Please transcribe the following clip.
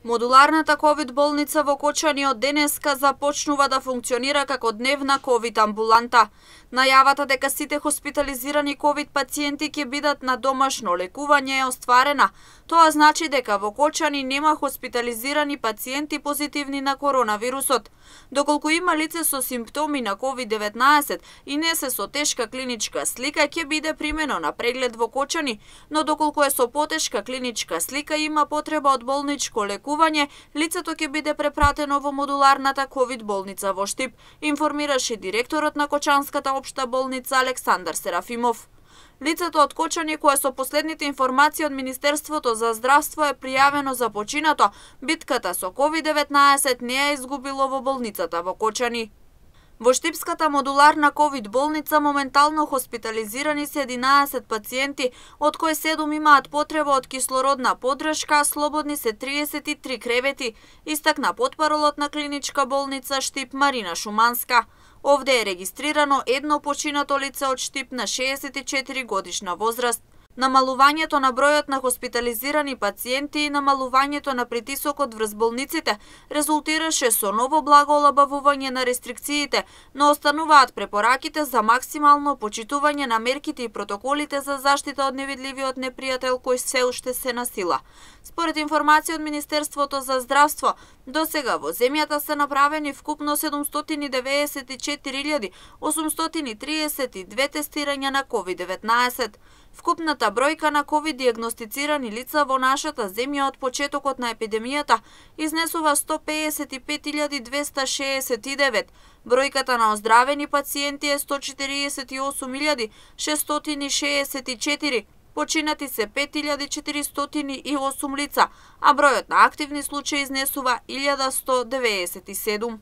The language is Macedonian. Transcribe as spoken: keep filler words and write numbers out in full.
Модуларната ковид болница во Кочани од денеска започнува да функционира како дневна ковид амбуланта. Најавата дека сите хоспитализирани ковид пациенти ќе бидат на домашно лекување е остварена. Тоа значи дека во Кочани нема хоспитализирани пациенти позитивни на коронавирусот. Доколку има лице со симптоми на ковид деветнаесет и не се со тешка клиничка слика, ќе биде примено на преглед во Кочани, но доколку е со потешка клиничка слика и има потреба од болничко лекување, лицето ќе биде препратено во модуларната ковид болница во Штип, информираше директорот на Кочанската општа болница Александар Серафимов. Лицето од Кочани, кое со последните информации од Министерството за здравство е пријавено за починато, битката со ковид деветнаесет не е изгубило во болницата во Кочани. Во Штипската модуларна ковид болница моментално хоспитализирани се единаесет пациенти, од кои седум имаат потреба од кислородна поддршка, а слободни се триесет и три кревети, истакна потпаролот на клиничка болница Штип Марина Шуманска. Овде е регистрирано едно починато лице од Штип на шеесет и четири годишна возраст. Намалувањето на бројот на хоспитализирани пациенти и намалувањето на притисокот врз болниците резултираше со ново благо олабавување на рестрикциите, но остануваат препораките за максимално почитување на мерките и протоколите за заштита од невидливиот непријател кој се уште се на сила. Според информација од Министерството за здравство, досега во земјата се направени вкупно седумстотини и деветдесет и четири илјади осумстотини триесет и две тестирања на ковид деветнаесет. Вкупната бројка на ковид диагностицирани лица во нашата земја од почетокот на епидемијата изнесува сто пеесет и пет илјади двеста шеесет и девет. Бројката на оздравени пациенти е сто четириесет и осум илјади шестстотини шеесет и четири. Починати се пет илјади четиристотини и осум лица, а бројот на активни случаи изнесува илјада сто деведесет и седум.